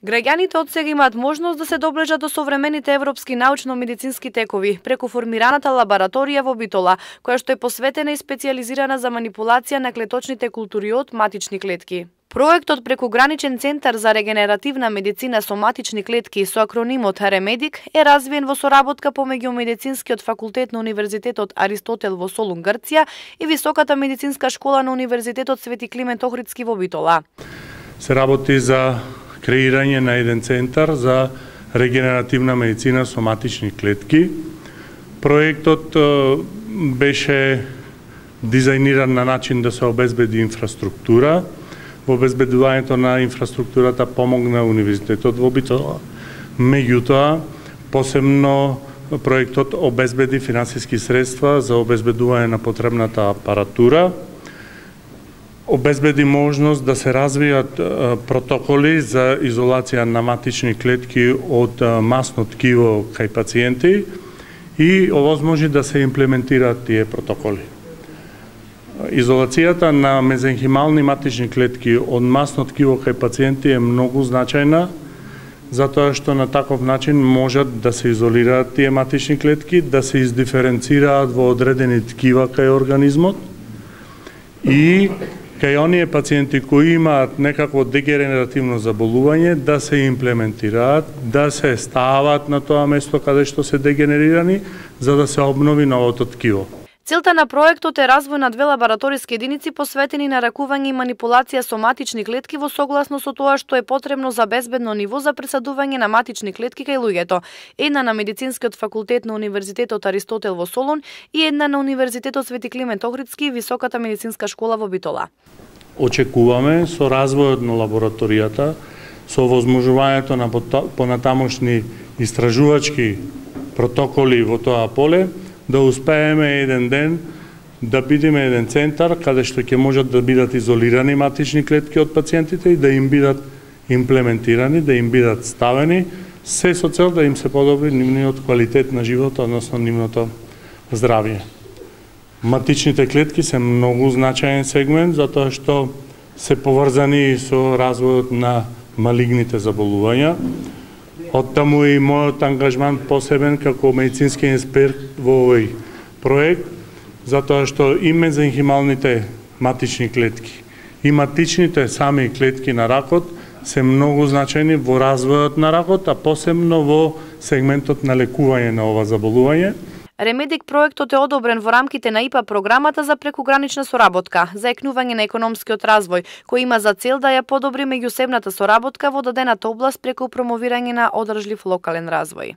Граѓаните од сега имаат можност да се доближат до современите европски научно-медицински текови преку формираната лабораторија во Битола, која што е посветена и специјализирана за манипулација на клеточните култури од матични клетки. Проектот Прекуграничен центар за регенеративна медицина со матични клетки со акронимот Ремедик е развиен во соработка помеѓу Медицинскиот факултет на Универзитетот Аристотел во Солун, Грција и Високата медицинска школа на Универзитетот Свети Климент Охридски во Битола. Се работи за креирање на еден центар за регенеративна медицина со матични клетки. Проектот беше дизајниран на начин да се обезбеди инфраструктура. Во обезбедувањето на инфраструктурата помогна Универзитетот во Битола. Меѓутоа, посебно проектот обезбеди финансиски средства за обезбедување на потребната апаратура, обезбеди можност да се развијат протоколи за изолација на матични клетки од масно ткиво кај пациенти и овозможи да се имплементираат тие протоколи. Изолацијата на мезенхимални матични клетки од масно ткиво кај пациенти е многу значајна, затоа што на таков начин можат да се изолираат тие матични клетки, да се издиференцираат во одредени ткива кај организмот и кај оние пациенти кои имаат некакво дегенеративно заболување да се имплементираат, да се стават на тоа место каде што се дегенерирани, за да се обнови новото ткиво. Целта на проектот е развој на 2 лабораториски единици посветени на ракување и манипулација со матични клетки во согласно со тоа што е потребно за безбедно ниво за пресадување на матични клетки кај луѓето. Една на Медицинскиот факултет на Универзитетот Аристотел во Солун и една на Универзитетот Свети Климент Охридски и Високата медицинска школа во Битола. Очекуваме со развојот на лабораторијата, со овозможувањето на понатамошни истражувачки протоколи во тоа поле, да успееме еден ден да бидеме еден центар каде што ќе можат да бидат изолирани матични клетки од пациентите и да им бидат имплементирани, да им бидат ставени, се со цел да им се подобри нивниот квалитет на живот, односно нивното здравје. Матичните клетки се многу значаен сегмент, затоа што се поврзани со развојот на малигните заболувања. Оттаму и мојот ангажман посебен како медицински експерт во овој проект, затоа што и мезенхималните матични клетки и матичните сами клетки на ракот се многу значајни во развојот на ракот, а посебно во сегментот на лекување на ова заболување. Ремедик проектот е одобрен во рамките на ИПА програмата за прекугранична соработка за екнување на економскиот развој, кој има за цел да ја подобри меѓусебната соработка во дадената област преку промовирање на одржлив локален развој.